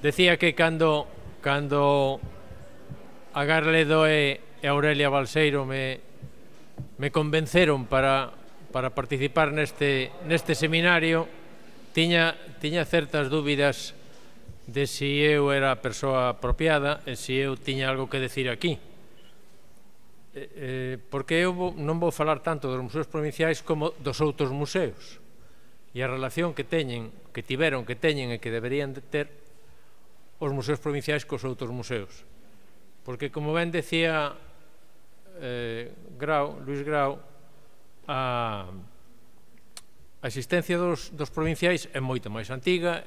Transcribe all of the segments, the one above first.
Decía que cando a Garledo e Aurelia Balseiro me convenceron para participar neste seminario, tiña certas dúbidas de si eu era a persoa apropiada e si eu tiña algo que decir aquí. Porque eu non vou falar tanto dos museos provinciais como dos outros museos e a relación que teñen, que tiveron, que teñen e que deberían de ter os museos provinciais cos outros museos. Porque, como ben decía Luis Grau, a existencia dos provinciais é moito máis antiga,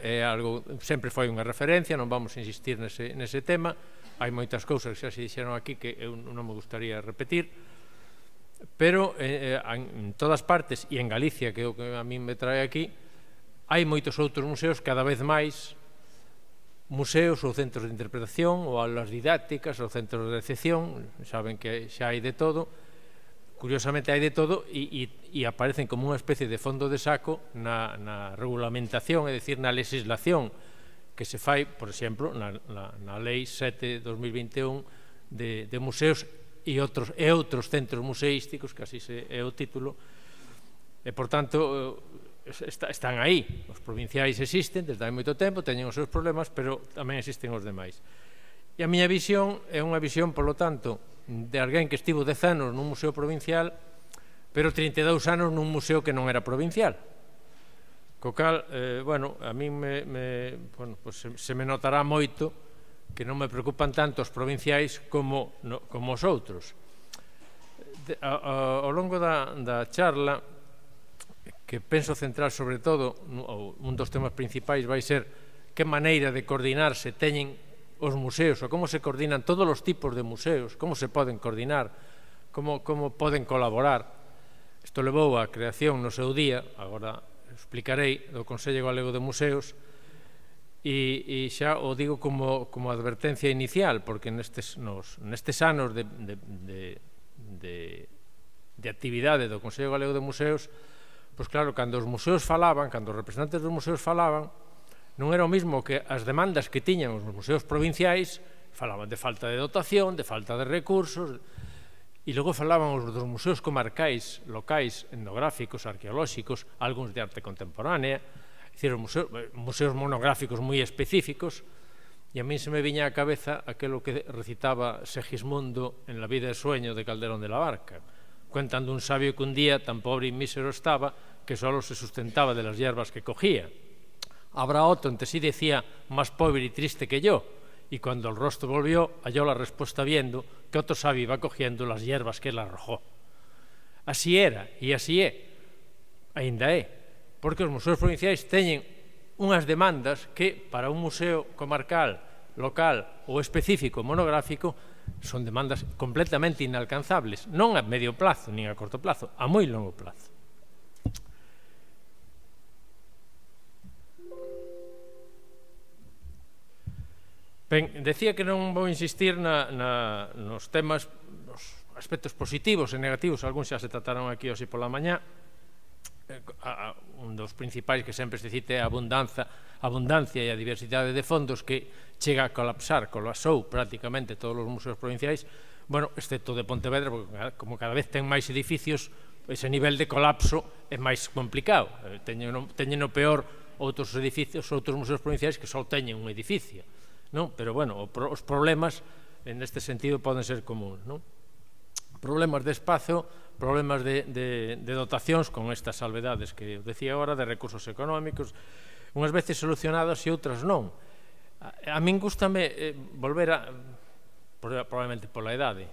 sempre foi unha referencia, non vamos a insistir nese tema. Hai moitas cousas que xa se dixeron aquí que eu non me gustaría repetir, pero en todas partes, e en Galicia, que é o que a min me trae aquí, hai moitos outros museos, cada vez máis museos ou centros de interpretación ou aulas didácticas ou centros de recepción. Saben que xa hai de todo, curiosamente hai de todo, e aparecen como unha especie de fondo de saco na regulamentación, é dicir, na legislación que se fai, por exemplo, na Lei 7/2021 de museos e outros centros museísticos, que así é o título, e, por tanto, están aí. Os provinciais existen desde hai moito tempo, teñen os seus problemas, pero tamén existen os demais. E a miña visión é unha visión, polo tanto, de alguén que estivo 10 anos nun museo provincial, pero 32 anos nun museo que non era provincial. Co cal, a min se me notará moito que non me preocupan tanto os provinciais como os outros. Ao longo da charla, que penso centrar sobre todo, un dos temas principais vai ser que maneira de coordinarse teñen os museos, ou como se coordinan todos os tipos de museos, como se poden coordinar, como poden colaborar. Isto levou á creación no seu día, agora explicarei, do Consello Galego de Museos, e xa o digo como advertencia inicial, porque nestes anos de actividade do Consello Galego de Museos, pois claro, cando os museos falaban, cando os representantes dos museos falaban, non era o mesmo que as demandas que tiñan os museos provinciais. Falaban de falta de dotación, de falta de recursos, e logo falaban os dos museos comarcais, locais, etnográficos, arqueolóxicos, algúns de arte contemporánea, museos monográficos moi específicos, e a min se me viña á cabeza aquilo que recitaba Segismundo en La vida de sueño de Calderón de la Barca. Cuentan dun sabio que un día tan pobre e mísero estaba que solo se sustentaba de las hierbas que cogía. Habrá otro, entre sí decía, más pobre y triste que yo, y cuando el rostro volvió, halló la respuesta viendo que otro sabio iba cogiendo las hierbas que él arrojó. Así era, e así é, aínda é, porque os museos provinciais teñen unhas demandas que para un museo comarcal, local ou específico monográfico son demandas completamente inalcanzables, non a medio plazo nin a corto plazo, a moi longo plazo. Ben, decía que non vou insistir nos temas, nos aspectos positivos e negativos, algúns xa se trataron aquí hoxe pola mañá. Un dos principais que sempre se cita é a abundancia e a diversidade de fondos que chega a colapsou prácticamente todos os museos provinciais, excepto de Pontevedra, porque como cada vez ten máis edificios, ese nivel de colapso é máis complicado. Teñen o peor outros edificios, outros museos provinciais que só teñen un edificio. Pero, os problemas neste sentido poden ser comuns. Problemas de espazo, problemas de dotacións con estas salvedades que eu decía agora, de recursos económicos, unhas veces solucionadas e outras non. A min gústame volver a, probablemente pola idade,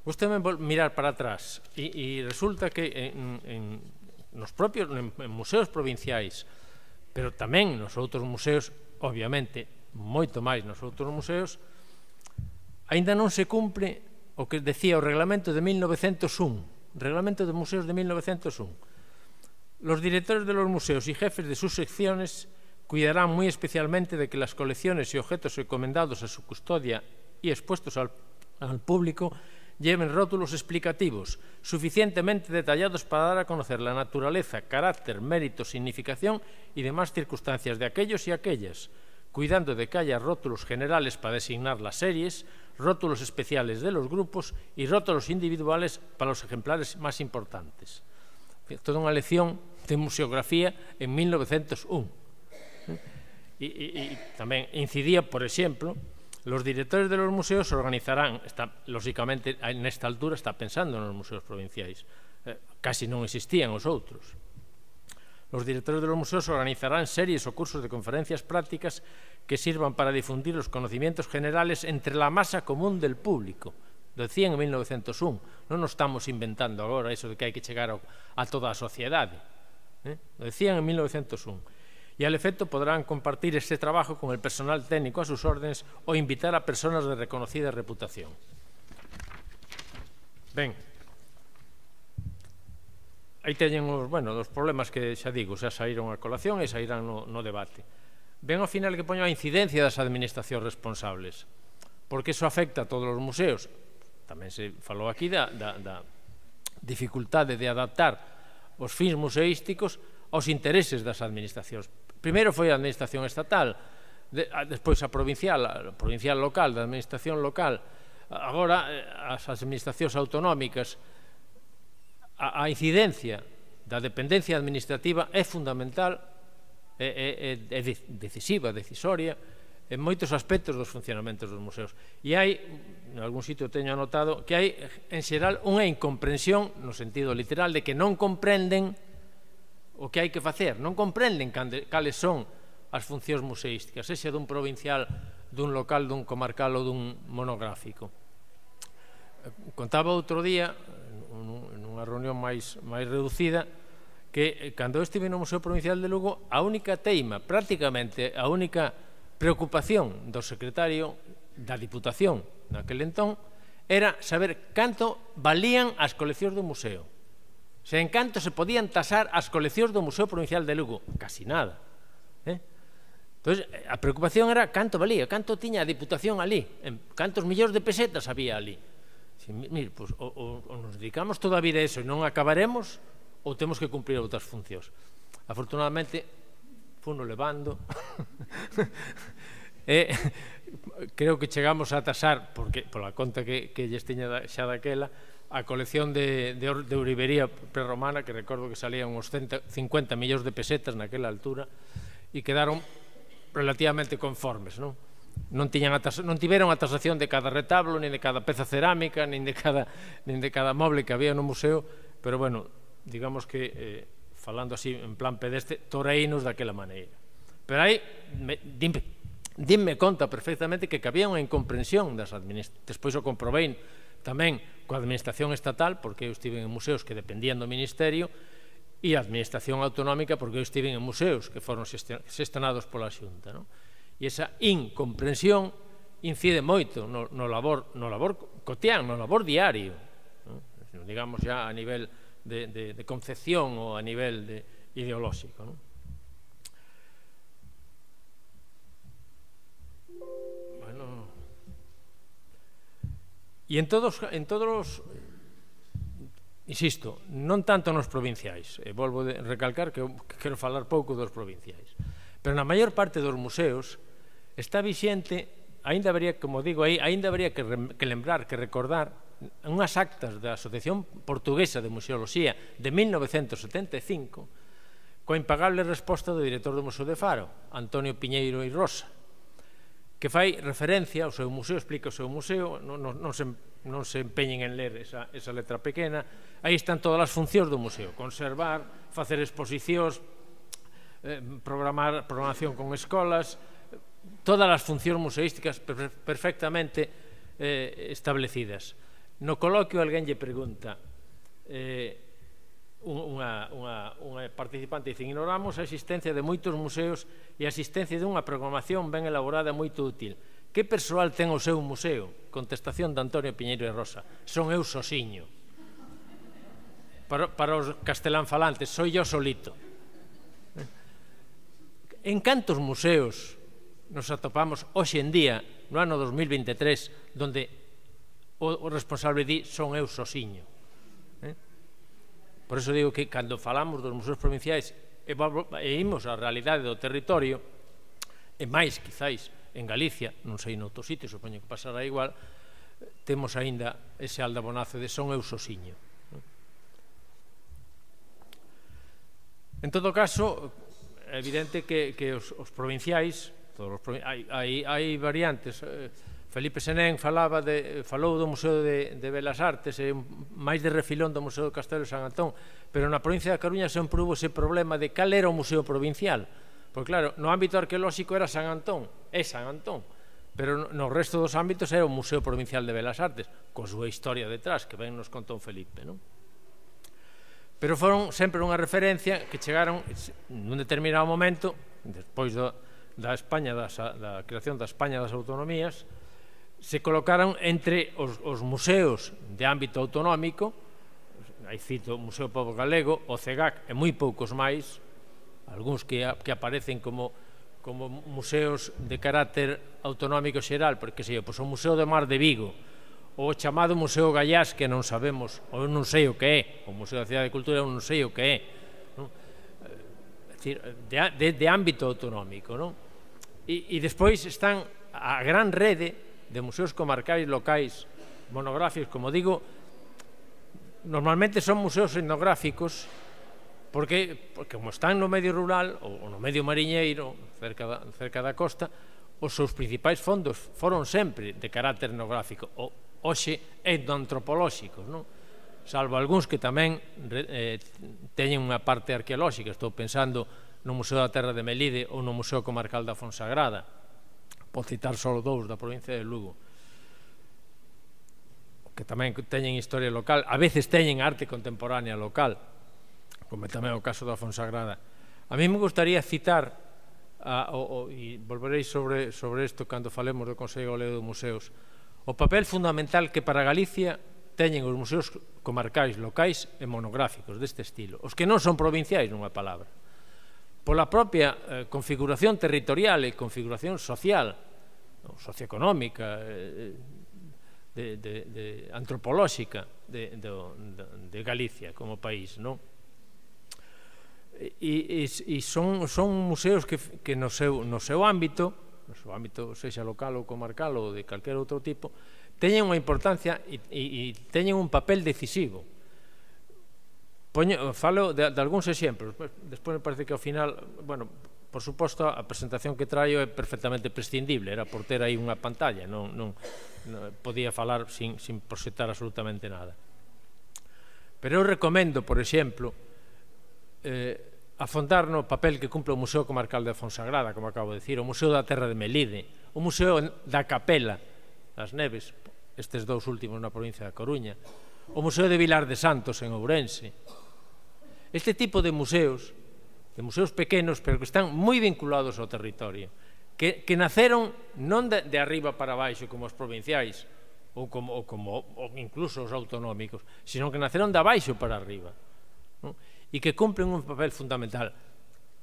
gústame mirar para atrás e resulta que nos propios museos provinciais, pero tamén nos outros museos, obviamente, moito máis nos outros museos, aínda non se cumpre o que decía o reglamento de 1901, reglamento de museos de 1901. Los directores de los museos y jefes de sus secciones cuidarán muy especialmente de que las colecciones y objetos encomendados a su custodia y expuestos al público lleven rótulos explicativos suficientemente detallados para dar a conocer la naturaleza, carácter, mérito, significación y demás circunstancias de aquellos y aquellas cuidando de que haya rótulos generales para designar las series, rótulos especiales de los grupos y rótulos individuales para los ejemplares más importantes. Toda unha lección de museografía en 1901. Y tamén incidía, por exemplo, los directores de los museos organizarán, lógicamente, nesta altura está pensando nos museos provinciais, casi non existían os outros. Los directores de los museos organizarán series o cursos de conferencias prácticas que sirvan para difundir los conocimientos generales entre la masa común del público. Lo decían en 1901, non nos estamos inventando agora eso de que hai que chegar a toda a sociedade. Lo decían en 1901. E al efecto podrán compartir este trabajo con el personal técnico a sus órdenes o invitar a personas de reconocida reputación. Ben, aí teñen os problemas que, xa digo, xa saíron a colación e sairán no debate. Ben ao final que poño a incidencia das administracións responsables, porque iso afecta a todos os museos. Tamén se falou aquí da dificultade de adaptar os fins museísticos aos intereses das administracións. Primeiro foi a administración estatal, despois a provincial local, da administración local, agora as administracións autonómicas. A incidencia da dependencia administrativa é fundamental, é decisiva, decisoria, en moitos aspectos dos funcionamentos dos museos. E hai, en algún sitio teño anotado, que hai, en xeral, unha incomprensión, no sentido literal, de que non comprenden o que hai que facer, non comprenden cales son as funcións museísticas, sexa dun provincial, dun local, dun comarcal ou dun monográfico. Contaba outro día, nunha reunión máis reducida, que cando eu estive no Museo Provincial de Lugo, a única teima, prácticamente a única preocupación do secretario da Diputación naquel entón era saber canto valían as coleccións do museo. Se en canto se podían tasar as coleccións do Museo Provincial de Lugo. Casi nada. Entón, a preocupación era canto valía, canto tiña a Diputación ali, cantos millóns de pesetas había ali. Mire, ou nos dedicamos toda a vida a eso e non acabaremos, ou temos que cumprir outras funcións. Afortunadamente, funo levando e creo que chegamos a tasar, porque pola conta que lles tiña xa daquela, a colección de ourivería prerromana, que recordo que salían uns 50 millóns de pesetas naquela altura, e quedaron relativamente conformes, non? Non tiveron a tasación de cada retablo, nin de cada peza cerámica, nin de cada moble que había no museo, pero, bueno, digamos que, falando así en plan pedestre, toreinos daquela maneira. Pero aí, dinme conta perfectamente que había unha incomprensión das administracións. Despois o comprobei tamén coa administración estatal, porque eu estive en museos que dependían do Ministerio, e a administración autonómica, porque eu estive en museos que foron xestionados pola Xunta, non? E esa incomprensión incide moito no labor cotián, no labor diario, digamos ya a nivel de concepción ou a nivel ideolóxico. Bueno, e en todos os, insisto, non tanto nos provinciais, e volvo a recalcar que quero falar pouco dos provinciais, pero na maior parte dos museos está vixente, ainda habría, como digo aí, ainda habría que lembrar, que recordar unhas actas da Asociación Portuguesa de Museoloxía de 1975 coa impagable resposta do director do Museo de Faro, Antonio Piñeiro e Rosa, que fai referencia ao seu museo, explica o seu museo, non se empeñen en ler esa letra pequena. Aí están todas as funcións do museo: conservar, facer exposicións, programación con escolas, todas as funcións museísticas perfectamente establecidas. No coloquio alguén lle pregunta, unha participante dice: ignoramos a existencia de moitos museos e a existencia dunha programación ben elaborada e moito útil. Que persoal ten o seu museo? Contestación de Antonio Piñeiro e Rosa: son eu sosiño. Para os castelán falantes, soy yo solito. En cantos museos nos atopamos hoxe en día, no ano 2023, donde o responsable di son eu sosiño? Por iso digo que cando falamos dos museos provinciais e imos á realidade do territorio, e máis, quizáis, en Galicia, non sei noutros sitios, supoño que pasará igual, temos aínda ese aldabonazo de son eu sosiño. En todo caso, é evidente que os provinciais, hai variantes. Felipe Senén falou do Museo de Belas Artes e máis de refilón do Museo do Castelo de San Antón, pero na provincia da Coruña sempre hubo ese problema de cal era o museo provincial, porque claro, no ámbito arqueolóxico era San Antón, pero no resto dos ámbitos era o Museo Provincial de Belas Artes, con súa historia detrás, que ben nos contou Felipe, non? Pero foron sempre unha referencia que chegaron nun determinado momento, despois da creación da España das Autonomías, se colocaron entre os museos de ámbito autonómico, aí cito o Museo Pobo Galego, o CEGAC e moi poucos máis, algúns que aparecen como museos de carácter autonómico xeral, porque sei, o Museo do Mar de Vigo, o chamado Museo Gallás, que non sabemos, ou non sei o que é, o Museo da Cidade de Cultura non sei o que é, de ámbito autonómico, non? E despois están a gran rede de museos comarcais, locais, monográficos, como digo, normalmente son museos etnográficos, porque como están no medio rural ou no medio mariñeiro, cerca da costa, os seus principais fondos foron sempre de carácter etnográfico, hoxe etnoantropolóxicos, non? Salvo algúns que tamén teñen unha parte arqueolóxica. Estou pensando no Museo da Terra de Melide ou no Museo Comarcal da Fonsagrada, por citar só dous da provincia de Lugo, que tamén teñen historia local, a veces teñen arte contemporánea local, como tamén o caso da Fonsagrada. A mí me gustaría citar, e volverei sobre isto cando falemos do Consello Galego de Museos, o papel fundamental que para Galicia teñen os museos comarcais, locais e monográficos deste estilo, os que non son provinciais, nunha palabra, pola propia configuración territorial e configuración social, socioeconómica, antropolóxica de Galicia como país, non? E son museos que no seu ámbito, sexa local ou comarcal ou de calquer outro tipo, teñen unha importancia e teñen un papel decisivo. Falo de algúns exemplos, despois me parece que ao final, bueno, por suposto, a presentación que traio é perfectamente prescindible, era por ter aí unha pantalla, non podía falar sin proxectar absolutamente nada. Pero eu recomendo, por exemplo, afondar no papel que cumple o Museo Comarcal da Fonsagrada, como acabo de dicir, o Museo da Terra de Melide, o Museo da Capela das Neves, estes dous últimos na provincia da Coruña, o Museo de Vilar de Santos en Ourense. Este tipo de museos pequenos, pero que están moi vinculados ao territorio, que naceron non de arriba para baixo como os provinciais ou incluso os autonómicos, sino que naceron de abaixo para arriba, e que cumplen un papel fundamental.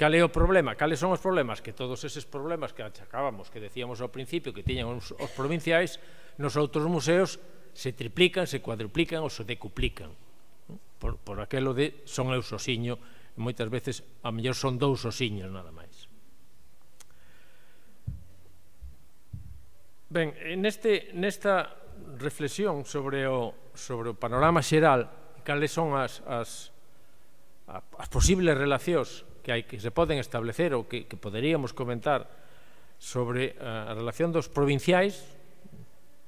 Cal é o problema? Cales son os problemas? Que todos eses problemas que achacábamos, que decíamos ao principio que tiñan os provinciais, nos outros museos se triplican, se cuadruplican ou se decuplican, por aquelo de son eu sosiño, e moitas veces a mellor son dous sosiños nada máis. Ben, nesta reflexión sobre o panorama xeral, cales son as posibles relacións que se poden establecer ou que poderíamos comentar sobre a relación dos provinciais,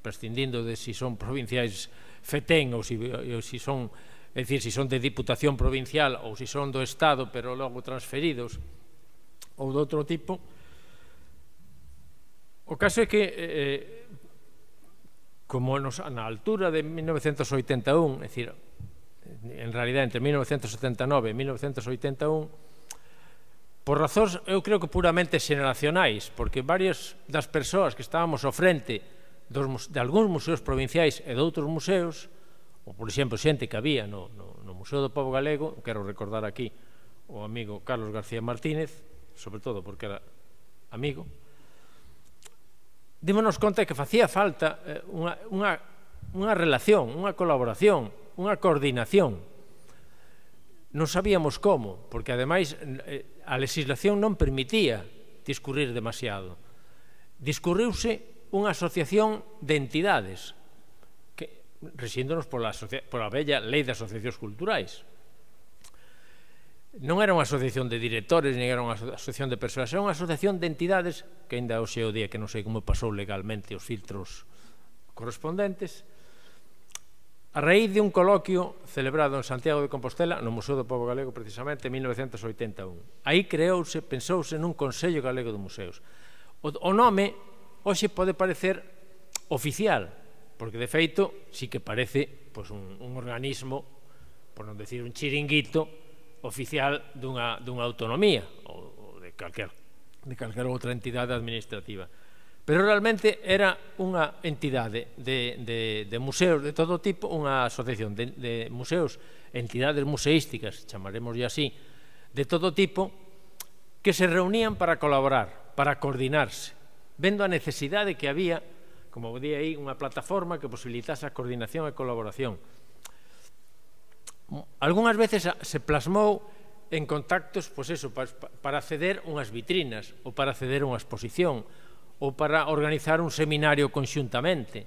prescindindo de si son provinciais fetén ou si son, é dicir, si son de Diputación Provincial ou si son do Estado pero logo transferidos ou de outro tipo. O caso é que como na altura de 1981, é dicir, en realidad entre 1979 e 1981, por razóns, eu creo que puramente xeneracionais, porque varias das persoas que estábamos ao frente de algúns museos provinciais e de outros museos, ou, por exemplo, xente que había no Museo do Pobo Galego, quero recordar aquí o amigo Carlos García Martínez, sobre todo porque era amigo, dímonos conta que facía falta unha relación, unha colaboración, unha coordinación. Non sabíamos como, porque ademais a legislación non permitía discurrir demasiado. Discurriuse unha asociación de entidades que, rexíndonos pola bella lei de asociacións culturais. Non era unha asociación de directores, nin era unha asociación de persoas, era unha asociación de entidades que ainda hoxe é o día que non sei como pasou legalmente os filtros correspondentes, a raíz de un coloquio celebrado en Santiago de Compostela, no Museo do Pobo Galego, precisamente, en 1981. Aí pensouse nun Consello Galego de Museos. O nome hoxe pode parecer oficial, porque de feito sí que parece un organismo, por non decir un chiringuito, oficial dunha autonomía ou de calquera outra entidade administrativa. Pero realmente era unha entidade de museos de todo tipo, unha asociación de museos, entidades museísticas, chamaremoslle así, de todo tipo, que se reunían para colaborar, para coordinarse, vendo a necesidade que había, como di aí, unha plataforma que posibilitase a coordinación e colaboración. Algúnas veces se plasmou en contactos, pois eso, para acceder unhas vitrinas, ou para acceder unha exposición, ou para organizar un seminario conxuntamente.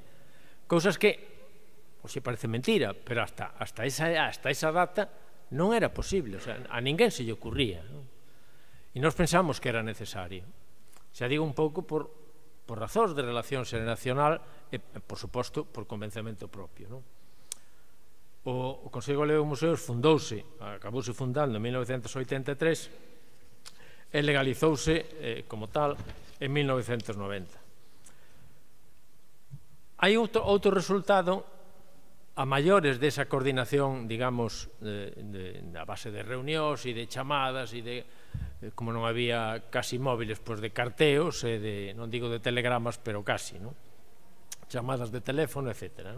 Cousas que, hoxe parece mentira, pero hasta esa data non era posible, o sea, a ninguén se lle ocurría. E nós pensamos que era necesario. Xa digo un pouco por razóns de relación xeracional e, por suposto, por convencemento propio. O Consello Galego de Museos acabouse fundando en 1983 e legalizouse como tal en 1990. Hai outro resultado a maiores desa coordinación, digamos, a base de reunións e de chamadas e de, como non había casi móviles, pois de carteos e de, non digo de telegramas, pero casi, chamadas de teléfono, etcétera.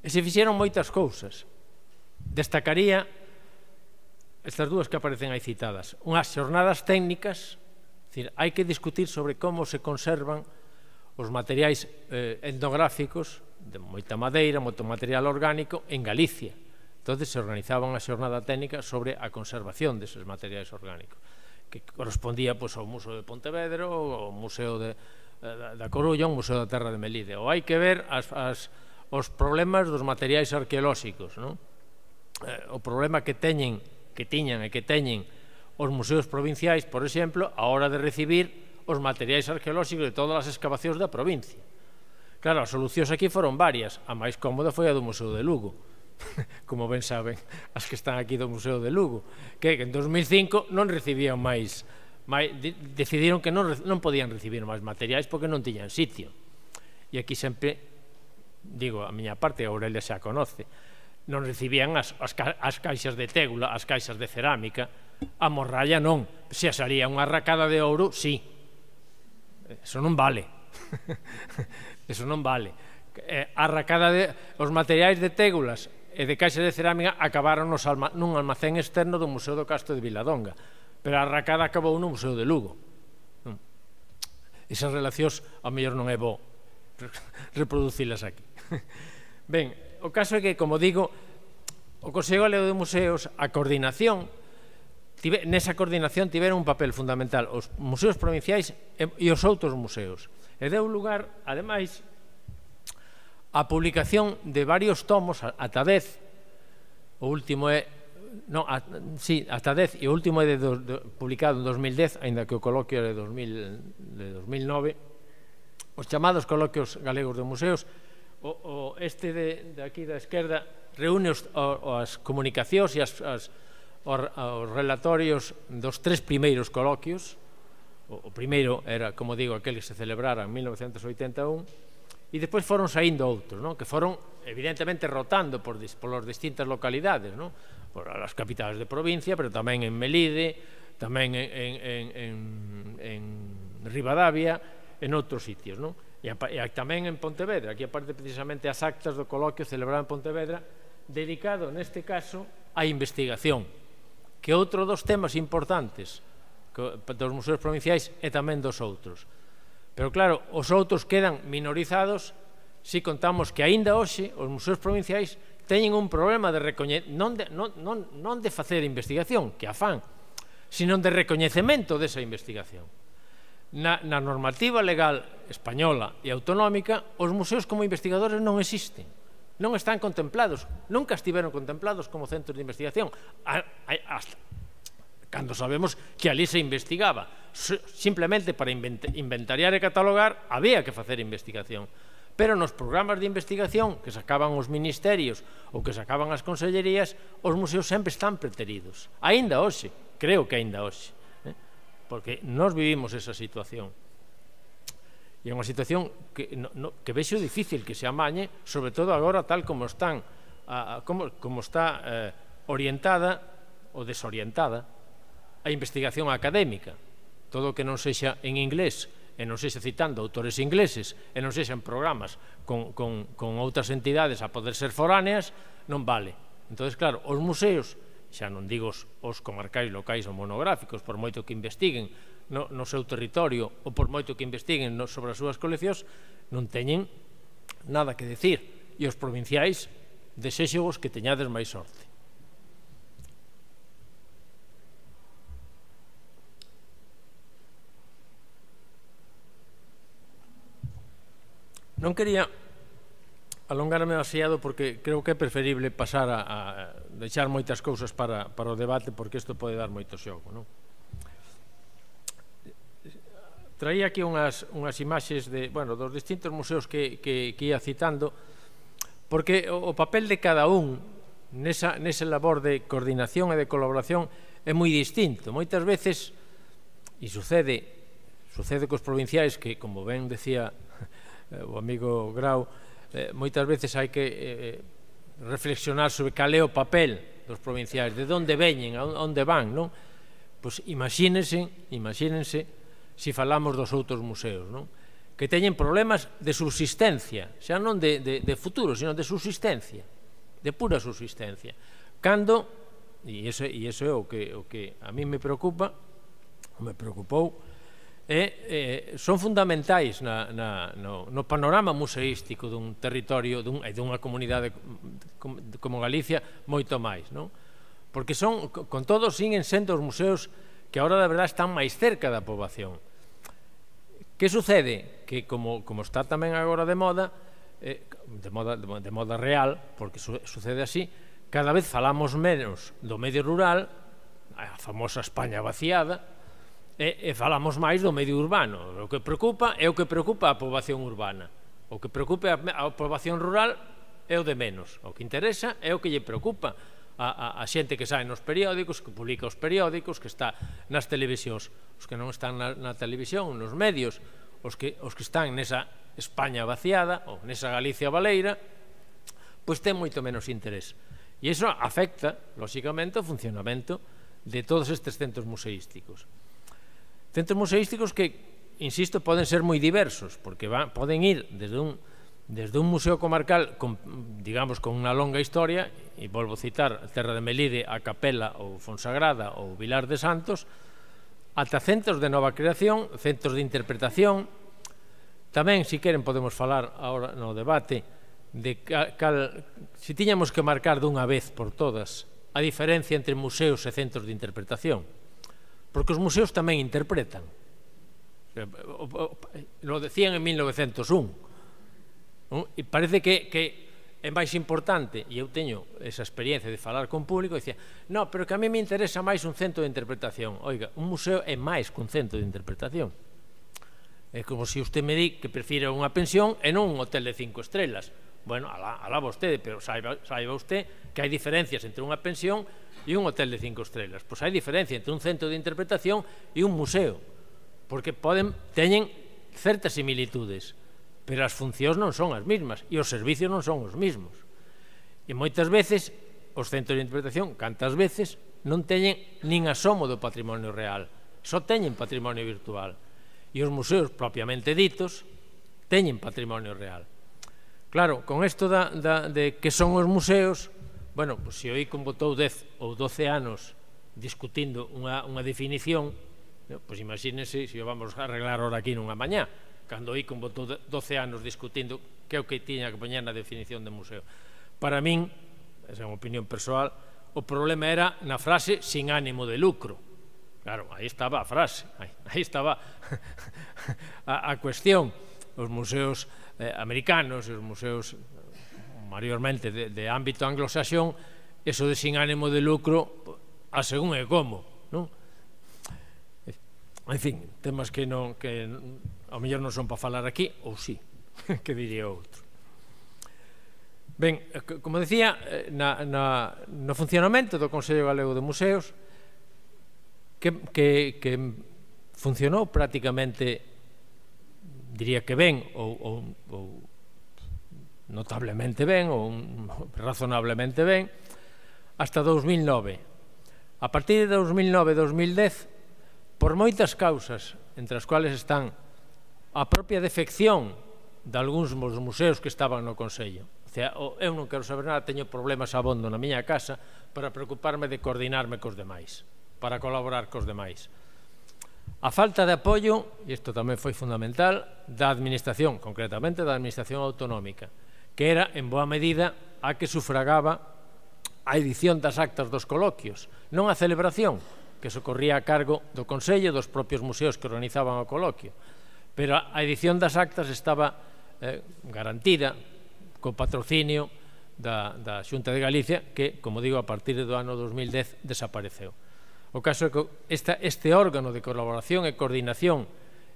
E se fixeron moitas cousas. Destacaría estas dúas que aparecen aí citadas. Unhas xornadas técnicas, hai que discutir sobre como se conservan os materiais etnográficos de moita madeira, moito material orgánico en Galicia. Entón se organizaba unha xornada técnica sobre a conservación deses materiais orgánicos, que correspondía ao Museo de Pontevedra, ao Museo da Coruña, ao Museo da Terra de Melide. Ou hai que ver os problemas dos materiais arqueolóxicos, o problema que tiñan e que teñen os museos provinciais, por exemplo, a hora de recibir os materiais arqueolóxicos de todas as excavacións da provincia. Claro, as solucións aquí foron varias. A máis cómoda foi a do Museo de Lugo, como ben saben as que están aquí do Museo de Lugo, que en 2005 non recibían máis, decidiron que non podían recibir máis materiais porque non tiñan sitio. E aquí sempre digo, a miña parte, a Aurelia xa conoce, non recibían as caixas de tégula, as caixas de cerámica, a morralla non. Se salía unha arracada de ouro, sí. Eso non vale. Eso non vale. A arracada os materiais de tégulas e de caixas de cerámica acabaron nun almacén externo do Museo do Castro de Viladonga, pero a arracada acabou no Museo de Lugo. Esas relacións, ao mellor non é bo reproducilas aquí. Ben, o caso é que, como digo, o Consello Galego de Museos, a coordinación, nesa coordinación tiveron un papel fundamental os museos provinciais e os outros museos, e deu lugar, ademais, a publicación de varios tomos, ata 10, o último é ata 10, e o último é publicado en 2010, aínda que o coloquio é de 2009, os chamados coloquios galegos de museos. Este de aquí da esquerda reúne as comunicacións e os relatorios dos 3 primeiros coloquios. O primeiro era, como digo, aquel que se celebrara en 1981, e despois foron saindo outros, que foron evidentemente rotando por distintas localidades, por as capitais de provincia, pero tamén en Melide, tamén en Ribadavia, en outros sitios, e tamén en Pontevedra. Aquí aparte precisamente as actas do coloquio celebrado en Pontevedra, dedicado neste caso á investigación, que outro dos temas importantes dos museos provinciais e tamén dos outros. Pero claro, os outros quedan minorizados se contamos que aínda hoxe os museos provinciais teñen un problema de non de facer investigación, que a fan, sino de recoñecemento desa investigación. Na normativa legal española e autonómica, os museos como investigadores non existen, non están contemplados, nunca estiveron contemplados como centros de investigación, hasta cando sabemos que ali se investigaba. Simplemente para inventariar e catalogar había que facer investigación. Pero nos programas de investigación que sacaban os ministerios ou que sacaban as consellerías, os museos sempre están preteridos. Aínda hoxe, creo que aínda hoxe, porque nós vivimos esa situación. E é unha situación que vexo difícil que se amañe, sobre todo agora tal como está orientada ou desorientada a investigación académica. Todo o que non sexa en inglés e non sexa citando autores ingleses e non sexa en programas con outras entidades a poder ser foráneas, non vale. Entón, claro, os museos, xa non digo os comarcais, locais ou monográficos, por moito que investiguen no seu territorio ou por moito que investiguen sobre as súas coleccións, non teñen nada que decir. E os provinciais, desexovos que teñades máis sorte. Non quería alongarme demasiado porque creo que é preferible pasar a deixar moitas cousas para o debate, porque isto pode dar moito xogo, non? Traía aquí unhas imaxes dos distintos museos que ia citando, porque o papel de cada un nesa labor de coordinación e de colaboración é moi distinto. Moitas veces, e sucede cos provinciais, que, como ben decía o amigo Grau, moitas veces hai que reflexionar sobre cal é o papel dos provinciais, de onde veñen, a onde van, non? Pois imagínense se falamos dos outros museos, non? Que teñen problemas de subsistencia, xa non de futuro, sino de subsistencia, de pura subsistencia. Cando, e iso é o que a mí me preocupa, me preocupou, son fundamentais no panorama museístico dun territorio e dunha comunidade como Galicia moito máis, non? Porque con todo, siguen sendo os museos que agora, de verdade, están máis cerca da poboación. Que sucede? Que como está tamén agora de moda real, porque sucede así, cada vez falamos menos do medio rural, a famosa España vaciada, e falamos máis do medio urbano. O que preocupa é o que preocupa a poboación urbana. O que preocupa a poboación rural é o de menos. O que interesa é o que lle preocupa a xente que sae nos periódicos, que publica os periódicos, que está nas televisións. Os que non están na televisión, nos medios, os que están nesa España vaciada ou nesa Galicia baleira, pois ten moito menos interés. E iso afecta, lóxicamente, o funcionamento de todos estes centros museísticos. Centros museísticos que, insisto, poden ser moi diversos, porque poden ir desde un museo comarcal, digamos, con unha longa historia, e volvo a citar Terra de Melide, a Capela ou Fonsagrada ou Vilar de Santos, ata centros de nova creación, centros de interpretación. Tamén, se queren, podemos falar agora no debate de se tiñamos que marcar dunha vez por todas a diferencia entre museos e centros de interpretación. Porque os museos tamén interpretan. Lo decían en 1901. E parece que é máis importante, e eu teño esa experiencia de falar con público, e dicía, no, pero que a mí me interesa máis un centro de interpretación. Oiga, un museo é máis que un centro de interpretación. É como se usted me di que prefira unha pensión e non un hotel de 5 estrelas. Bueno, alá vostede, pero saiba usted que hai diferencias entre unha pensión e un hotel de 5 estrelas. Pois hai diferencia entre un centro de interpretación e un museo, porque teñen certas similitudes, pero as funcións non son as mesmas e os servicios non son os mesmos. E moitas veces os centros de interpretación, cantas veces, non teñen nin asomo do patrimonio real, só teñen patrimonio virtual. E os museos propiamente ditos teñen patrimonio real. Claro, con isto de que son os museos, bueno, se o ICOM botou 10 ou 12 anos discutindo unha definición, pois imagínense se o vamos a arreglar ahora aquí nunha mañá, cando o ICOM botou 12 anos discutindo que é o que tiña que poñer na definición de museo. Para min, esa é unha opinión persoal, o problema era na frase sin ánimo de lucro. Claro, aí estaba a frase, aí estaba a cuestión. Os museos americanos e os museos maiormente de ámbito anglosaxón, eso de sin ánimo de lucro, a según é como, non? En fin, temas que ao mellor non son para falar aquí, ou sí, que diría outro. Ben, como decía, no funcionamento do Consello Galego de Museos, que funcionou prácticamente, diría que ben, ou notablemente ben, ou razonablemente ben, hasta 2009. A partir de 2009-2010, por moitas causas, entre as cuales están a propia defección de algúns dos museos que estaban no Consello. Eu non quero saber nada, teño problemas abondo na miña casa para preocuparme de coordinarme cos demais, para colaborar cos demais. A falta de apoio, e isto tamén foi fundamental, da administración, concretamente da administración autonómica, que era, en boa medida, a que sufragaba a edición das actas dos coloquios, non a celebración, que socorría a cargo do Consello e dos propios museos que organizaban o coloquio, pero a edición das actas estaba garantida co patrocinio da Xunta de Galicia, que, como digo, a partir do ano 2010 desapareceu. O caso é que este órgano de colaboración e coordinación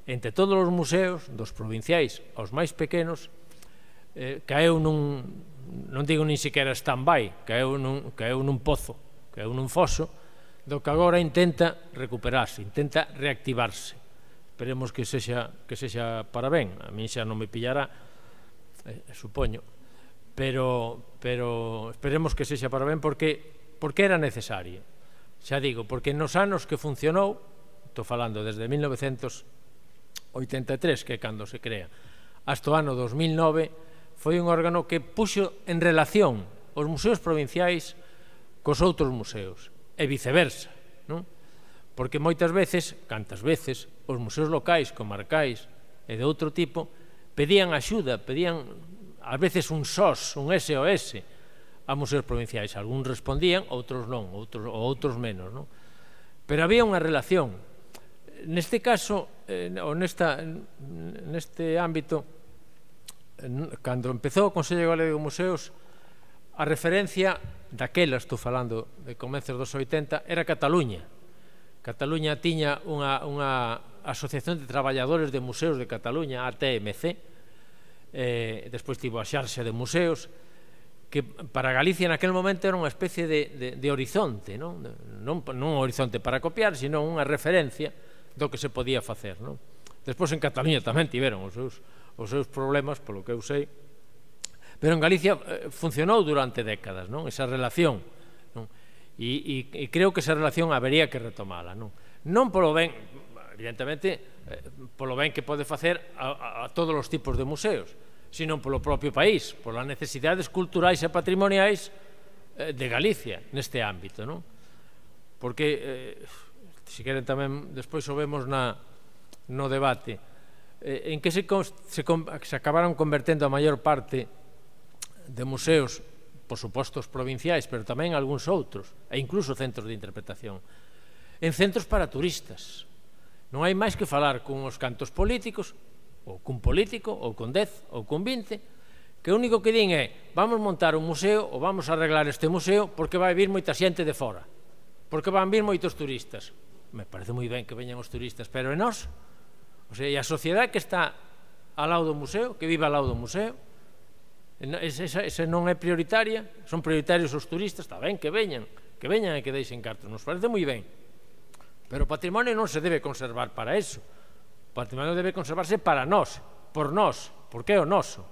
entre todos os museos, dos provinciais aos máis pequenos, caeu non digo nin sequera stand-by, caeu nun pozo, caeu nun foso, do que agora intenta recuperarse, intenta reactivarse. Esperemos que sexa para ben, a min xa non me pillará, supoño, pero esperemos que sexa para ben porque era necesario. Xa digo, porque nos anos que funcionou, estou falando desde 1983, que é cando se crea, hasta o ano 2009, foi un órgano que puxo en relación os museos provinciais cos outros museos, e viceversa, non? Porque moitas veces, cantas veces, os museos locais, comarcais e de outro tipo, pedían axuda, pedían ás veces un SOS, un SOS a museos provinciais. Algúns respondían, outros non, outros menos, non? Pero había unha relación. Neste caso, ou neste ámbito, cando empezou o Consello Galego de Museos, a referencia daquela, estou falando de comezos dos 80, era Cataluña. Cataluña tiña unha Asociación de Traballadores de Museos de Cataluña, ATMC, despois tivo a xarxa de museos, que para Galicia naquel momento era unha especie de horizonte, non un horizonte para copiar, sino unha referencia do que se podía facer. Despois en Cataluña tamén tiveron os seus problemas, polo que eu sei, pero en Galicia funcionou durante décadas esa relación, e creo que esa relación habería que retomala, non polo ben, evidentemente, polo ben que pode facer a todos os tipos de museos, sino polo propio país, polas necesidades culturais e patrimoniais de Galicia neste ámbito, porque, se queren tamén, despois o vemos no debate, en que se acabaron convertendo a maior parte de museos, por suposto os provinciais, pero tamén algúns outros, e incluso centros de interpretación, en centros para turistas. Non hai máis que falar con os cantos políticos, ou cun político, ou con 10, ou con 20, que o único que din é: vamos montar un museo, ou vamos arreglar este museo, porque vai vir moita xente de fora, porque van vir moitos turistas. Me parece moi ben que veñan os turistas, pero e nós? O sea, e a sociedade que está ao lado do museo, que vive ao lado do museo, esa non é prioritaria, son prioritarios os turistas, está ben que veñan e que deixen cartos, nos parece moi ben, pero o patrimonio non se debe conservar para eso, o patrimonio debe conservarse para nós, por nós, porque é o noso,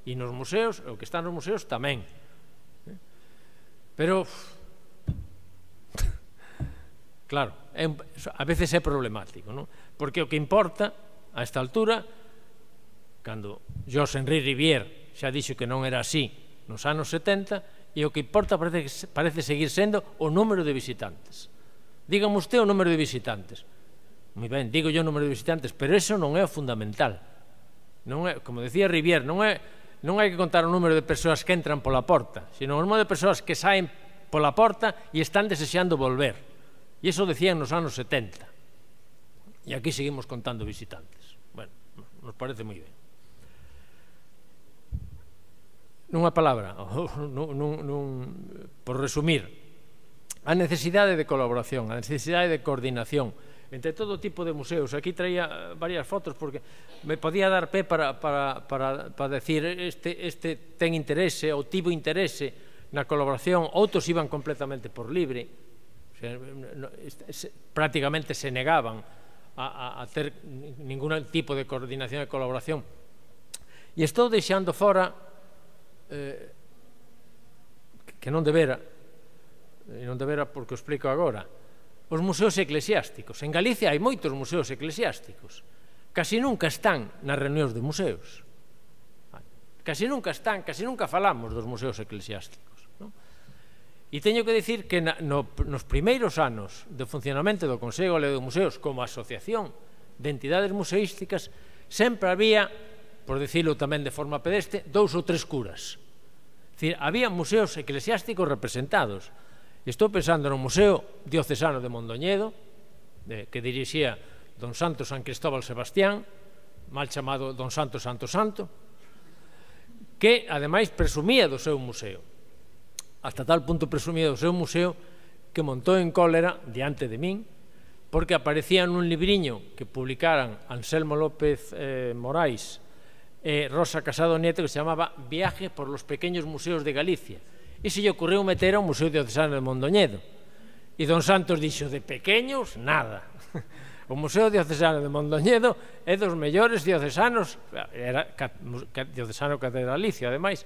e nos museos, o que está nos museos tamén, pero claro, a veces é problemático, porque o que importa a esta altura, cando José Henri Rivière xa dixo que non era así nos anos 70, e o que importa parece seguir sendo o número de visitantes. Dígame usted o número de visitantes. Moi ben, digo yo o número de visitantes, pero eso non é o fundamental. Como decía Rivière, non hai que contar o número de persoas que entran pola porta, sino o número de persoas que saen pola porta e están desexando volver. E iso decían nos anos 70. E aquí seguimos contando visitantes. Bueno, nos parece moi ben. Nunha palabra, por resumir, a necesidade de colaboración, a necesidade de coordinación entre todo tipo de museos. Aquí traía varias fotos porque me podía dar pé para decir este ten interese ou tivo interese na colaboración, outros iban completamente por libre, prácticamente se negaban a ter ningún tipo de coordinación e colaboración. E estou deixando fora que non debera, e non debera porque o explico agora, os museos eclesiásticos. En Galicia hai moitos museos eclesiásticos, casi nunca están nas reunións de museos, casi nunca están, casi nunca falamos dos museos eclesiásticos, non? E teño que dicir que nos primeiros anos de funcionamento do Consello Galego de Museos como asociación de entidades museísticas sempre había, por dicilo tamén de forma pedestre, 2 ou 3 curas. É dicir, había museos eclesiásticos representados. Estou pensando no Museo Diocesano de Mondoñedo, que dirixía don Santo San Cristóbal Sebastián, mal chamado don Santo Santo Santo, que ademais presumía do seu museo. Hasta tal punto presumía do seu museo que montou en cólera diante de min, porque aparecía nun libriño que publicaran Anselmo López Morais e Rosa Casado Nieto, que se chamaba Viaje por los pequeños museos de Galicia. E se lle ocurriu meter ao Museo Diocesano de Mondoñedo. E don Santos dixo, de pequeños, nada. O Museo Diocesano de Mondoñedo é dos mellores diocesanos, era diocesano catedralicio, ademais,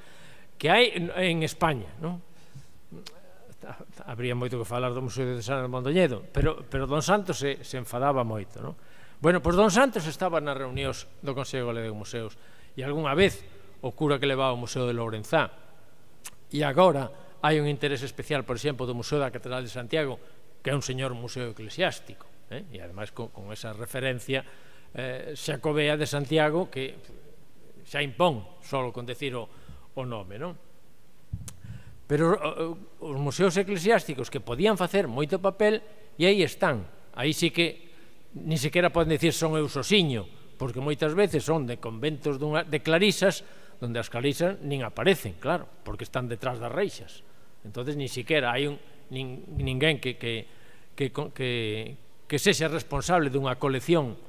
que hai en España, non? Habría moito que falar do Museo Diocesano de Mondoñedo, pero don Santos se enfadaba moito, non? Bueno, pois don Santos estaba nas reunións do Consello Galego de Museos e algunha vez o cura que levaba ao Museo de Lourenzá. E agora hai un interese especial, por exemplo, do Museo da Catedral de Santiago, que é un señor museo eclesiástico, e ademais con esa referencia xacobea de Santiago que xa impón só con decir o nome, non? Pero os museos eclesiásticos que podían facer moito papel, e aí están. Aí sí que ni sequera poden decir son eu sosiño, porque moitas veces son de conventos de clarisas, donde as clarisas nin aparecen, claro, porque están detrás das reixas. Entonces, ni siquiera hai ninguén que sexa responsable dunha colección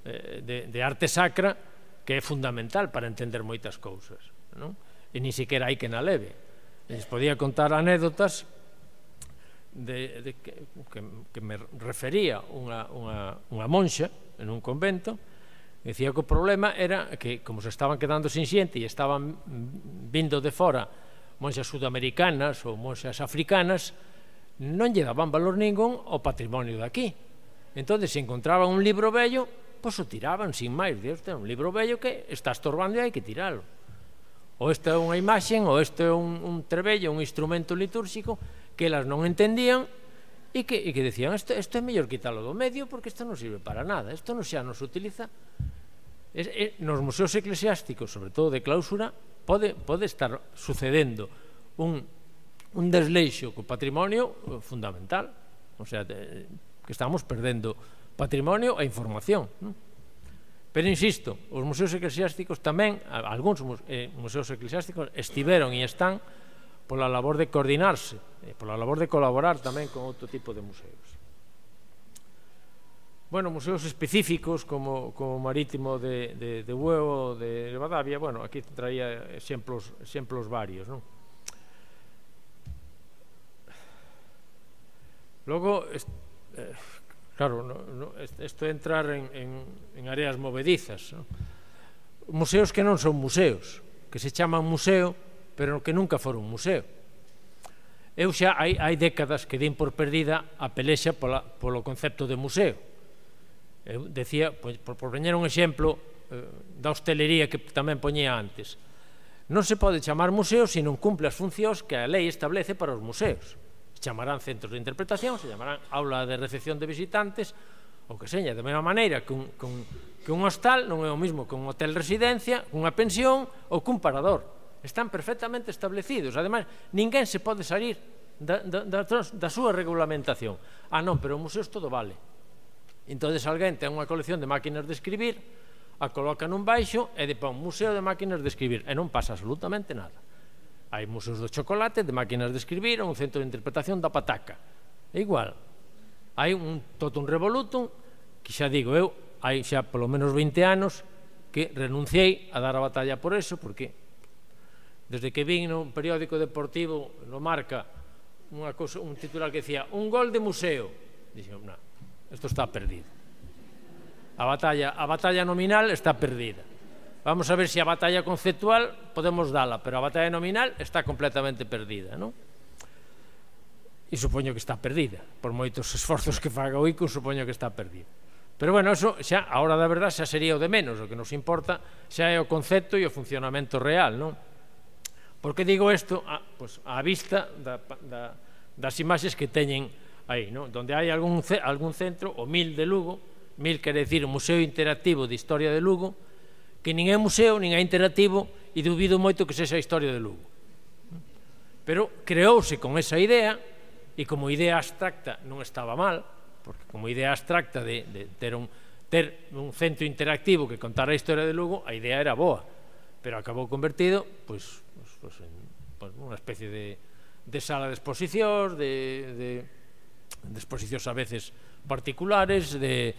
de arte sacra que é fundamental para entender moitas cousas, non? E ni siquiera hai que na leve. Les podía contar anécdotas que me refería unha monxa en un convento. Dicía que o problema era que, como se estaban quedando sin xente e estaban vindo de fora monxas sudamericanas ou monxas africanas, non lle daban valor ningún ao patrimonio de aquí. Entón, se encontraban un libro vello, pois o tiraban sin máis. Este é un libro vello que está estorbando e hai que tiralo. Ou esta é unha imaxen, ou este é un trebello, un instrumento litúrxico que elas non entendían e que decían, isto é mellor quitalo do medio porque isto non sirve para nada, isto non xa nos utiliza. Nos museos eclesiásticos, sobre todo de clausura, pode estar sucedendo un desleixo co patrimonio fundamental, o sea, que estamos perdendo patrimonio e información, non? Pero insisto, os museos eclesiásticos tamén, algúns museos eclesiásticos estiveron e están pola labor de coordinarse, pola labor de colaborar tamén con outro tipo de museos. Bueno, museos específicos como o Marítimo de Bueu, de Ribadavia, bueno, aquí traía exemplos varios, non? Logo, claro, isto é entrar en áreas movedizas, non? Museos que non son museos, que se chaman museo, pero que nunca foron museo. Eu xa hai décadas que din por perdida a pelexa polo concepto de museo. Eu decía, por poñer un exemplo da hostelería que tamén poñía antes, non se pode chamar museo se non cumple as funcións que a lei establece para os museos. Se chamarán centros de interpretación, se chamarán aula de recepción de visitantes, ou que seña, de mesma maneira que un hostal non é o mismo que un hotel residencia, unha pensión ou que un parador. Están perfectamente establecidos. Ademais, ninguén se pode salir da súa regulamentación. Non, pero os museos todo vale. Entón, alguén ten unha colección de máquinas de escribir, a coloca nun baixo e pon museo de máquinas de escribir, e non pasa absolutamente nada. Hai museos do chocolate, de máquinas de escribir, un centro de interpretación da pataca. É igual. Hai todo un revolutum que xa digo eu, hai xa polo menos 20 anos que renunciei a dar a batalla por eso, porque desde que vin no periódico deportivo, no Marca, un titular que decía un gol de museo, dixen, non, isto está perdido. A batalla nominal está perdida. Vamos a ver se a batalla conceptual podemos dala, pero a batalla nominal está completamente perdida, non? E supoño que está perdida, por moitos esforzos que faga o ICO, supoño que está perdida. Pero bueno, eso xa, a hora da verdad, xa sería o de menos, o que nos importa xa é o concepto e o funcionamento real, non? Por que digo isto? Pois á vista das imaxes que teñen aí, non? Donde hai algún centro, o MIL de Lugo, MIL quere dicir o Museo Interactivo de Historia de Lugo, que nin é museo, nin é interactivo, e dubido moito que sexa a historia de Lugo. Pero creouse con esa idea, e como idea abstracta non estaba mal, porque como idea abstracta de ter un centro interactivo que contara a historia de Lugo, a idea era boa, pero acabou convertido en unha especie de sala de exposicións, de exposicións a veces particulares, de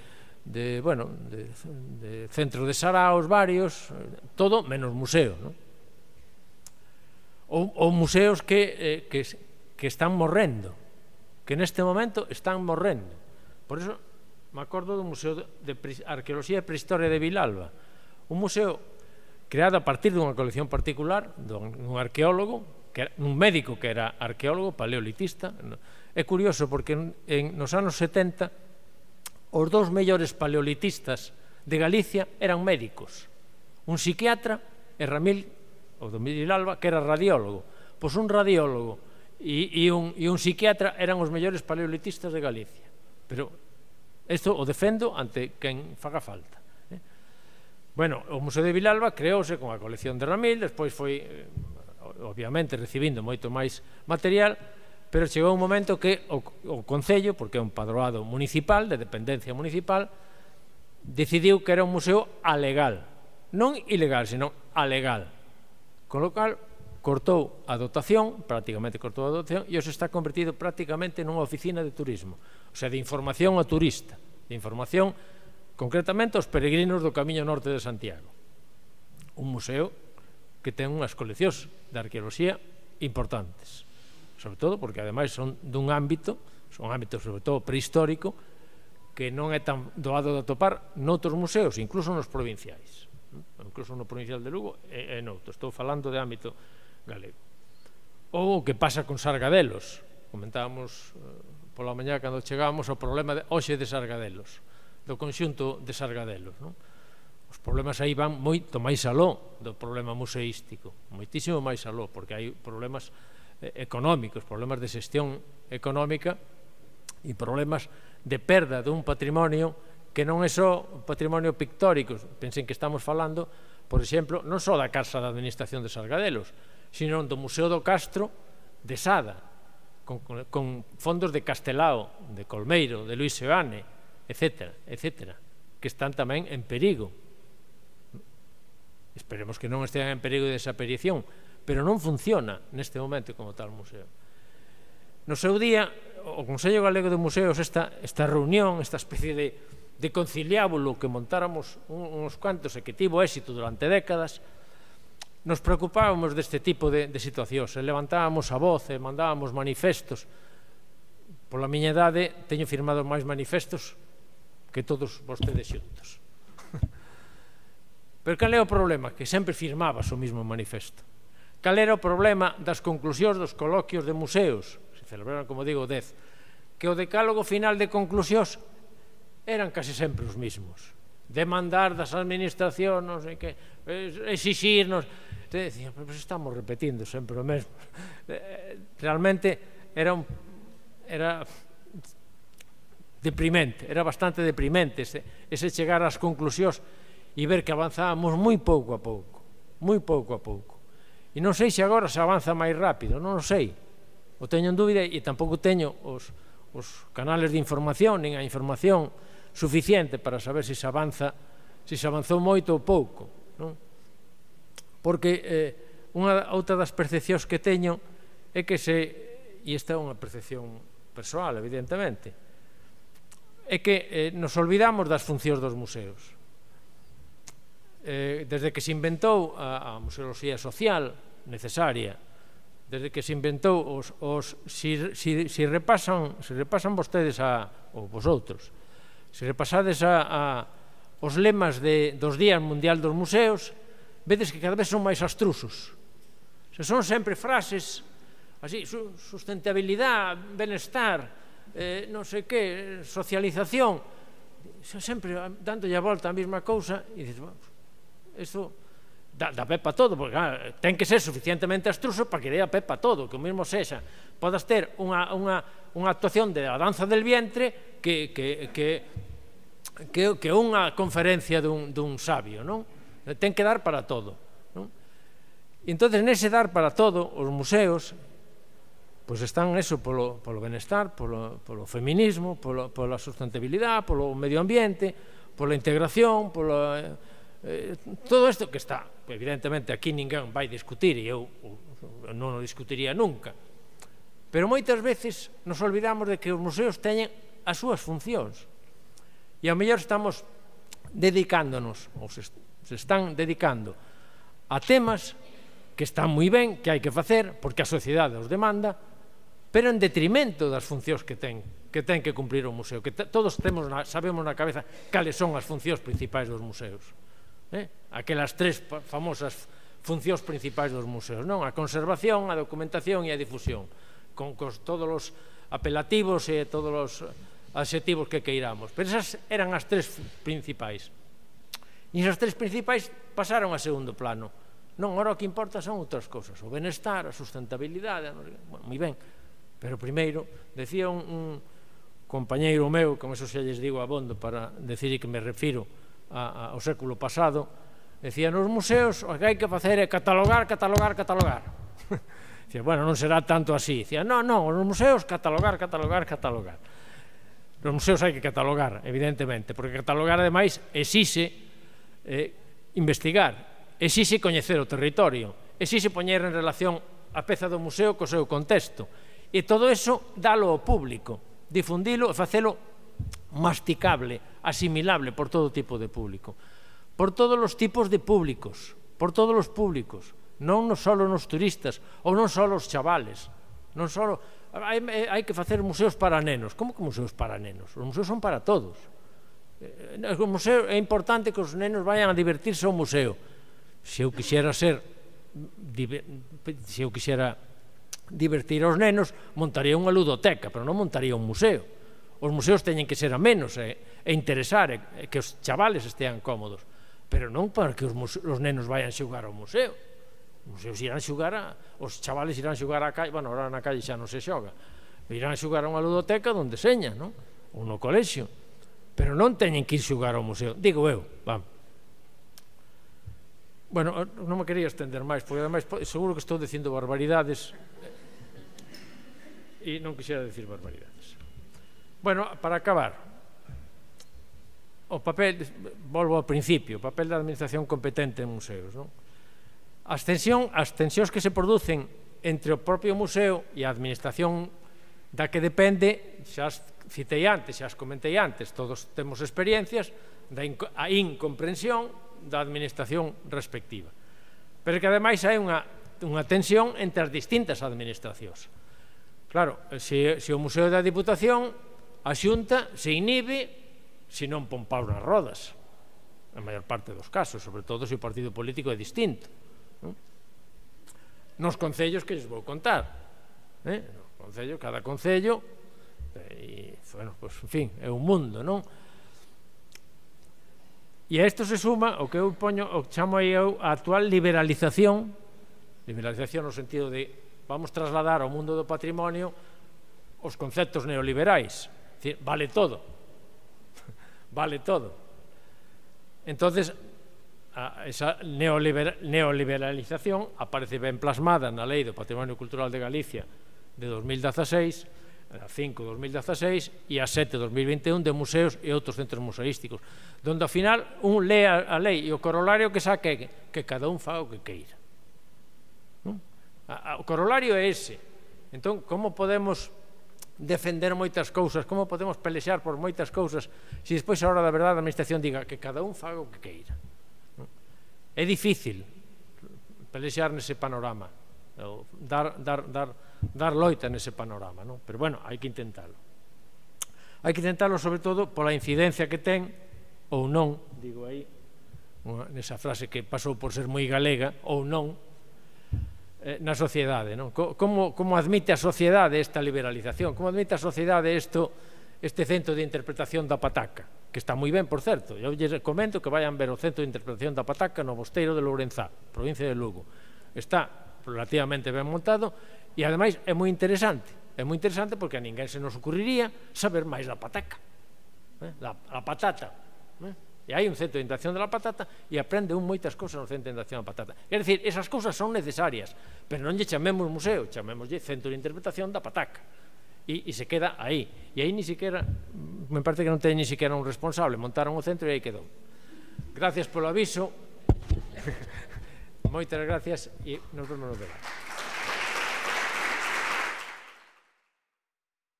centro de saraos varios, todo menos museo, ou museos que están morrendo, que neste momento están morrendo. Por iso me acordo do Museo de Arqueoloxía e Prehistoria de Vilalba, un museo creado a partir dunha colección particular dun arqueólogo, un médico que era arqueólogo, paleolitista. É curioso porque nos anos 70 os dous mellores paleolitistas de Galicia eran médicos, un psiquiatra e Ramil, o do Vilalba, que era radiólogo. Pois un radiólogo e un psiquiatra eran os mellores paleolitistas de Galicia. Pero isto o defendo ante quen faga falta. Bueno, o Museo de Vilalba creouse con a colección de Ramil, despois foi, obviamente, recibindo moito máis material, pero chegou un momento que o Concello, porque é un padroado municipal, de dependencia municipal, decidiu que era un museo alegal, non ilegal, senón alegal, con lo cal cortou a dotación, prácticamente cortou a dotación, e os está convertido prácticamente nunha oficina de turismo, o sea, de información ao turista, de información concretamente aos peregrinos do Camiño Norte de Santiago. Un museo que ten unhas coleccións de arqueoloxía importantes, sobre todo porque ademais son dun ámbito, sobre todo prehistórico, que non é tan doado de atopar noutros museos, incluso nos provinciais, incluso no provincial de Lugo e noutros. Estou falando de ámbito galego. Ou o que pasa con Sargadelos, comentábamos pola mañá cando chegábamos o problema hoxe de Sargadelos, do conxunto de Sargadelos. Os problemas aí van moito máis aló do problema museístico, moitísimo máis aló, porque hai problemas económicos, problemas de xestión económica e problemas de perda dun patrimonio que non é só patrimonio pictórico. Pensen que estamos falando, por exemplo, non só da Casa de Administración de Sargadelos, sino do Museo do Castro de Sada, con fondos de Castelao, de Colmeiro, de Luis Seoane, etcétera, que están tamén en perigo. Esperemos que non estean en perigo de desaparición, pero non funciona neste momento como tal museo. No seu día, o Consello Galego de Museos, esta reunión, esta especie de conciliábulo que montáramos uns cuantos e que tivo éxito durante décadas, nos preocupábamos deste tipo de situacións, e levantábamos a voz e mandábamos manifestos. Pola miña idade, teño firmado máis manifestos que todos vostedes xuntos. Pero cal é o problema? Que sempre firmabas o mismo manifesto. Cal era o problema das conclusións dos coloquios de museos? Se celebraron, como digo, 10. Que o decálogo final de conclusións eran case sempre os mismos. Demandar das administracións, non sei que, exixirnos. Te decía, pero estamos repetindo sempre o mesmo. Realmente era deprimente, era bastante deprimente ese chegar ás conclusións e ver que avanzábamos moi pouco a pouco, moi pouco a pouco. E non sei se agora se avanza máis rápido, non o sei. o teño en dúbida e tampouco teño os canales de información nin a información suficiente para saber se se avanzou moito ou pouco, non? Porque outra das percepcións que teño é que e esta é unha percepción persoal, evidentemente, é que nos olvidamos das funcións dos museos. Desde que se inventou a museoloxía social necesaria, desde que se inventou se repasan vostedes ou vosotros, se repasades os lemas dos Días Mundial dos Museos, vedes que cada vez son máis abstrusos. Son sempre frases así, sustentabilidade, benestar, non sei que, socialización, sempre dándolle a volta a mesma cousa, e dices, isto dá pé para todo, porque ten que ser suficientemente abstruso para que dé a pé para todo, que o mesmo sexa, podas ter unha actuación de a danza del vientre que unha conferencia dun sabio, non? Ten que dar para todo, non? E entón, nese dar para todo, os museos pois están eso polo benestar, polo feminismo, pola sustentabilidade, polo medio ambiente, pola integración, todo isto que está, evidentemente aquí ninguén vai discutir e eu non o discutiría nunca, pero moitas veces nos olvidamos de que os museos teñen as súas funcións e ao mellor estamos dedicándonos ou se están dedicando a temas que están moi ben, que hai que facer porque a sociedade os demanda, pero en detrimento das funcións que ten que cumprir o museo, que todos sabemos na cabeza cales son as funcións principais dos museos, aquelas tres famosas funcións principais dos museos, non? A conservación, a documentación e a difusión, con todos os apelativos e todos os adxetivos que queiramos, pero esas eran as tres principais, e esas tres principais pasaron a segundo plano. Non, agora o que importa son outras cousas, o benestar, a sustentabilidade, moi ben, pero primeiro, decía un compañeiro meu, como eso xa lles digo abondo para decir que me refiro ao século pasado, decía, nos museos o que hai que facer é catalogar. Dicía, bueno, non será tanto así. Dicía, non, nos museos catalogar. Nos museos hai que catalogar, evidentemente, porque catalogar, ademais, exixe investigar, exixe coñecer o territorio, exixe poñer en relación a peza do museo co seu contexto, e todo iso dalo ao público, difundilo e facelo masticable, asimilable por todo tipo de público, por todos os tipos de públicos, por todos os públicos, non só nos turistas ou non só os chavales, non só hai que facer museos para nenos. Como que museos para nenos? Os museos son para todos. O museo é importante que os nenos vayan a divertirse ao museo. Se eu quixera divertir aos nenos, montaría unha ludoteca, pero non montaría un museo. Os museos teñen que ser amenos e interesar, e que os chavales estean cómodos, pero non para que os nenos vayan xogar ao museo. Os museos irán xogar, os chavales irán xogar á calle, bueno, ahora na calle xa non se xoga, irán xogar a unha ludoteca donde seña, non? Ou no colexio, pero non teñen que ir xogar ao museo, digo eu, vamos. Bueno, non me quería estender máis, porque ademais seguro que estou dicindo barbaridades e non quixera decir barbaridades. Bueno, para acabar, o papel, volvo ao principio, o papel da administración competente en museos, non? As tensións que se producen entre o propio museo e a administración da que depende, xa as citei antes, xa as comentei antes, todos temos experiencias da incomprensión da administración respectiva, pero que ademais hai unha tensión entre as distintas administracións. Claro, se o Museo da Diputación, a Xunta se inhibe se non pon paus nas rodas, a maior parte dos casos, sobre todo se o partido político é distinto. Nos concellos que lles vou contar, cada concello, bueno, pois, en fin, é un mundo, non? E a isto se suma o que eu chamo aí a actual liberalización no sentido de vamos trasladar ao mundo do patrimonio os conceptos neoliberais, é dicir, vale todo, vale todo. Entonces, esa neoliberalización aparece ben plasmada na Lei do Patrimonio Cultural de Galicia de 2016, a 5 de 2016 e a 7 de 2021 de museos e outros centros museísticos, donde ao final un lee a lei e o corolario que saca é que cada un faga o que queira. O corolario é ese. Entón, como podemos defender moitas cousas, como podemos pelexar por moitas cousas, se despois a hora da verdade a administración diga que cada un faga o que queira? É difícil pelexar nese panorama, dar loita nese panorama, pero bueno, hai que intentalo. Hai que intentalo sobre todo pola incidencia que ten, ou non, digo aí, nesa frase que pasou por ser moi galega, ou non, na sociedade. Como admite a sociedade esta liberalización? Como admite a sociedade este centro de interpretación da pataca? Que está moi ben, por certo. Eu lles comento que vayan ver o centro de interpretación da pataca no Mosteiro de Lourenzá, provincia de Lugo. Está relativamente ben montado e, ademais, é moi interesante. É moi interesante porque a ninguén se nos ocurriría saber máis da pataca, a patata. E hai un centro de interpretación da patata e aprende moitas cousas no centro de interpretación da patata. Quer dicir, esas cousas son necesarias, pero non lle chamemos museo, chamémoslle centro de interpretación da pataca. E se queda aí. E aí ni siquiera, me parece que non ten ni siquiera un responsable, montaron o centro e aí quedou. Gracias polo aviso, moitas gracias e nos vemos no debate.